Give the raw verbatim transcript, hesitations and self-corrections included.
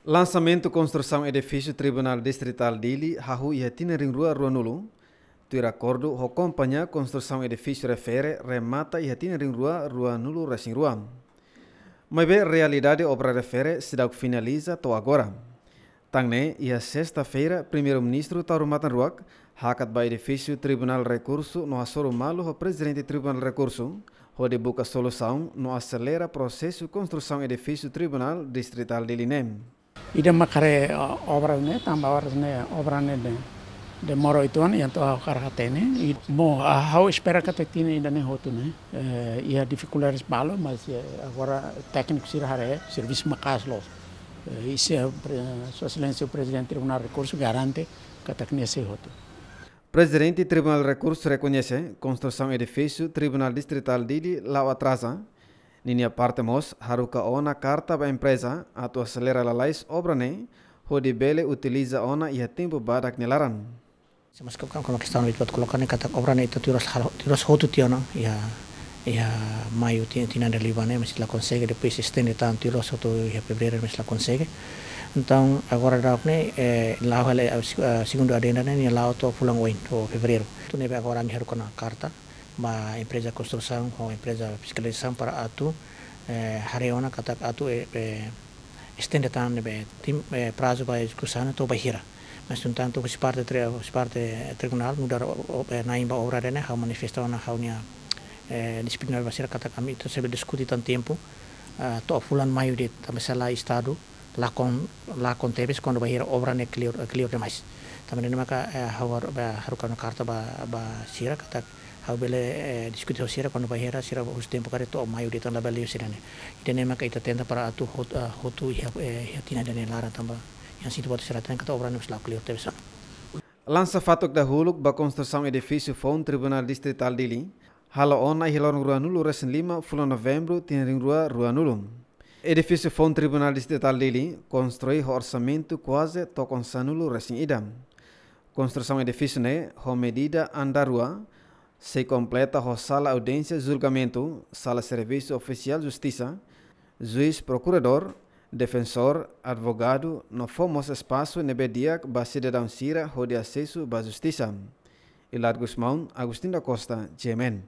Lansamentu konstrusaun edifísiu Tribunál Distritál Dili hahú iha tinan rihun rua ruanulu, tuir akordu ho kompañia konstrusaun edifísiu refere remata iha tinan rihun rua ruanulu resin rua. Maibé realidade obra refere seidauk finaliza to'o agora. Tan ne'e, iha sesta-feira, Primeiru-Ministru Taur Matan Ruak hakat ba edifísiu Tribunál Rekursu no hasoru malu ho Prezidente Tribunál Rekursu, hodi buka solusaun no aselera prosesu konstrusaun edifísiu Tribunál Distritál Dili ne'e. Ida mak haree, ah, obra ne'e, tanba oras ne'e, obra ne'e de, demora oito anos, entaun ha'u hakarak hatene. I mo, ah, ha'u espera katak tinan ida-ne'e hotu ne'e. Eh, iha difikuldades balu, mas, eh, agora tékniku sira haree, servisu maka'as loos. Eh, i se, pre-, Sua Exelénsia Prezidente Tribunál Rekursu garante katak ne'e sei hotu. Prezidente Tribunál Rekursu rekoñese konstrusaun edifísiu Tribunál Distritál Dili la'o atraza. Ninia parte mós haruka ona karta ba empreza atu aselera lalais obra ne'e, hodi bele utiliza ona iha tempu badak nia laran. Se mas kam, kam, kama kestaun ita buat koloka ne'e katak obra ne'e ita tuir loos hal-, tuir loos hotu tiha ona, iha, iha maiu ti-, tinan ida liubá ne'e, mas la konsege, depois estende tan tuir loos hotu iha fevereiru, mas la konsege. Entaun, agora daudaun ne'e, eh, la'o hela, eh, se-, eh, segundu adenda ne'e, nia la'o to'o fulan oin, to'o fevereiru. Entaun ne'ebé agora ami haruka ona karta ba empreza konstrusaun ho empreza fiskalizasaun para atu, eh, haree ona katak atu, eh, eh, estende tan ne'ebé tim-, eh, prazu ba ezekusaun to'o bainhira. Mas, no entantu, husi parte tri-, husi parte tribunál nu'udar o-, o-, eh, na'in ba obra ne'e, ha'u manifesta ona ha'u-nia, eh, dixiplinár ba sira katak ami atu sei bele diskute tan tempu, ah, to'o fulan maiu de'it, tanba se lae Estadu lakon, lakon tebes kuandu bainhira obra ne'e kleur, kleur demais. Tanba ne'e maka, eh, ha'u har-, eh, haruka ona karta ba, ba sira katak ha'u bele, eh, diskute ho sira kuandu bainhira sira husu tempu karik to'o maiu de'it tan labele liu sira-ne'e. Ida-ne'e maka ita tenta para atu hot-, ah, hotu iha, eh, iha tinan ida-ne'e laran tanba iha situ buat sira hatene katak obra ne'e mós la'o kleur tebes ona. Lansa fatuk dahuluk ba konstrusaun edifísiu foun Tribunál Distritál Dili, halo ona iha loron ruanulu resin lima fulan Novembru tinan rihun rua ruanulu. Edifísiu foun Tribunál Distritál Dili konstrui ho orsamentu kuaze tokon sanulu resin ida. Konstrusaun edifísiu ne'e ho medida andár rua, sei kompleta ho sala audiénsia julgamentu, sala servisu ofisiál justisa, juís prokuradór, defensór, advogadu, no fó mós espasu ne'ebé di'ak ba sidadaun sira hodi asesu ba justisa. Ilad Gusmão, Agostinho da Costa, G M N.